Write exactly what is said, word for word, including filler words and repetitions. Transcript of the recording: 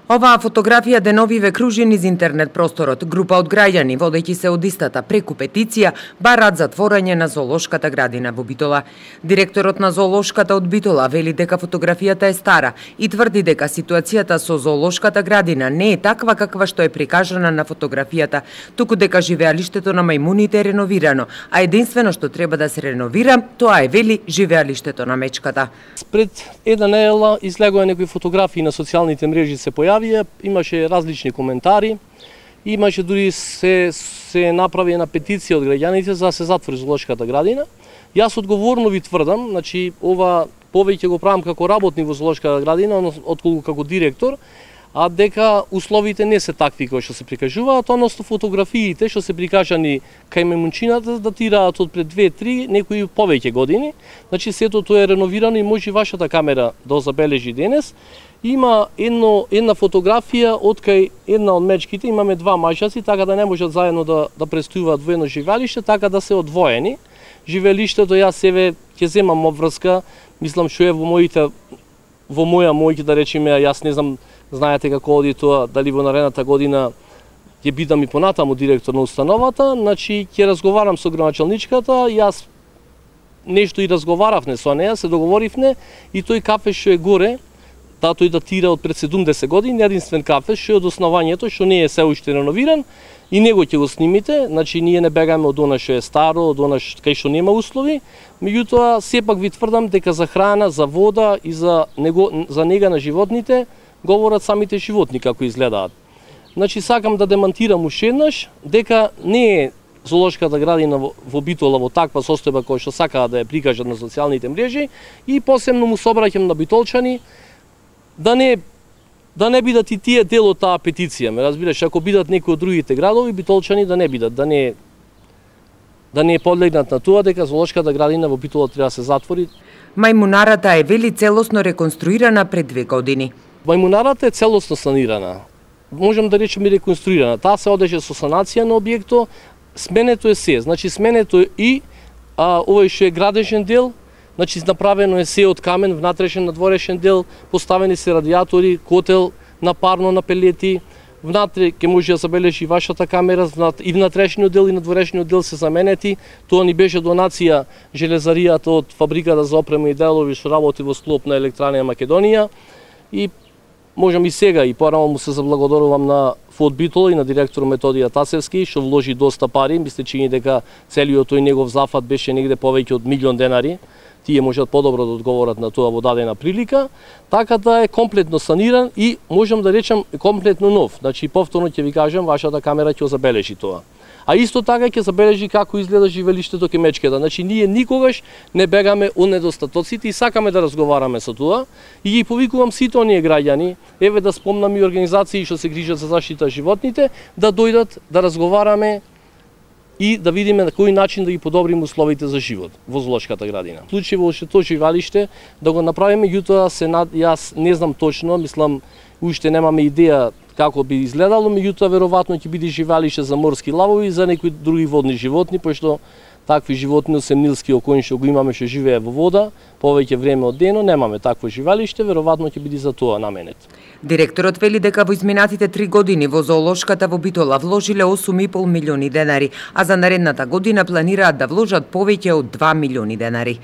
Оваа фотографија деновиве кружи низ интернет просторот. Група од граѓани, водејќи се од истата преку петиција, бараат затворање на зоолошката градина во Битола. Директорот на зоолошката од Битола вели дека фотографијата е стара и тврди дека ситуацијата со зоолошката градина не е таква каква што е прикажана на фотографијата, туку дека живеалиштето на мајмуните е реновирано, а единствено што треба да се реновира, тоа е, вели, живеалиштето на мечката. Пред една недела излегоа некои фотографии на социјалните мрежи, се појавија, имаше различни коментари, имаше дури се, се направи една петиција од граѓаните за да се затвори зоолошката градина. Јас одговорно ви тврдам, значи ова повеќе го правам како работник во зоолошката градина, отколку како директор, а дека условите не се такви кои што се прикажуваат, односно фотографиите што се прикажани кај мајмунчината датираат од пред две-три, некои повеќе години. Значи сето тоа е реновирано и може вашата камера да забележи денес. Има едно, една фотографија од кај една од мечките, имаме два мажаци, така да не можат заедно да, да престојуваат во едно живеалиште, така да се одвоени. Живеалиштето јас себе ќе земам обврска, мислам што е во моите, во моја мојки да речеме, јас не знам, знаете како оди тоа, дали во наредната година ќе бидам и понатаму директор на установата, значи ќе разговарам со градоначалничката, јас нешто и разговаравме со неа, се договоривме и тој кафе што е горе, да тој датира од пред седумдесет години, единствен кафе што е од основањето, што не е се уште реновиран, и него ќе го снимите, значи ние не бегаме од она што е старо, од она кај што нема услови, меѓутоа сепак ви тврдам дека за храна, за вода и за него, за нега на животните говорат самите животни како изгледаат. Значи сакам да демантирам уште еднаш дека не е зоолошката градина во Битола во таква состојба која што сакаат да ја прикажат на социјалните мрежи, и посебно му се обраќам на битолчани да не да не бидат и тие дел од таа петиција. Ме разбираш, ако бидат некои од другите градови, битолчани да не бидат, да не да не подлегнат на тоа дека зоолошката градина во Битола треба да се затвори. Мајмунарата е, вели, целосно реконструирана пред две години. Мајмунарата е целосно санирана. Можам да речем и реконструирана. Таа се одеше со санација на објекто, сменето е се. Значи сменето е и а, овој што е градежен дел, значи направено е се од камен, внатрешен, надворешен дел, поставени се радиатори, котел на парно на пелети, внатре ќе може да забележи вашата камера, и внатрешниот дел и надворешниот дел се заменети. Тоа ни беше донација железаријата од фабриката за опрема и делови што работи во склоп на Електранија Македонија, и можам и сега и порано му се заблагодарувам на ФОД Битола и на директор Методија Тасевски што вложи доста пари, мислејќи дека целиот тој негов зафат беше негде повеќе од милион денари. Тие можат подобро да одговорат на тоа во дадена прилика, така да е комплетно саниран и можам да речам комплетно нов. Значи повторно ќе ви кажам, вашата камера ќе забележи тоа. А исто така ќе забележи како изгледа живеалиштето кај мечката. Значи ние никогаш не бегаме од недостатоците и сакаме да разговараме со тоа, и ги повикувам сите оние граѓани, еве да спомнам и организации што се грижат за заштита животните, да дојдат да разговараме и да видиме на кој начин да ги подобриме условите за живот во зоолошката градина. Случај во уште тоа живеалиште да го направиме, јутоа се над... јас не знам точно, мислам уште немаме идеја како би изгледало, меѓутоа веројатно ќе биде живеалиште за морски лавови и за некои други водни животни, пошто такви животни освен нилски окоњ што го имаме што живее во вода повеќе време од дено, немаме такво живеалиште, веројатно ќе биде за тоа наменет. Директорот вели дека во изминатите три години во зоолошката во Битола вложиле осум и пол милиони денари, а за наредната година планираат да вложат повеќе од два милиони денари.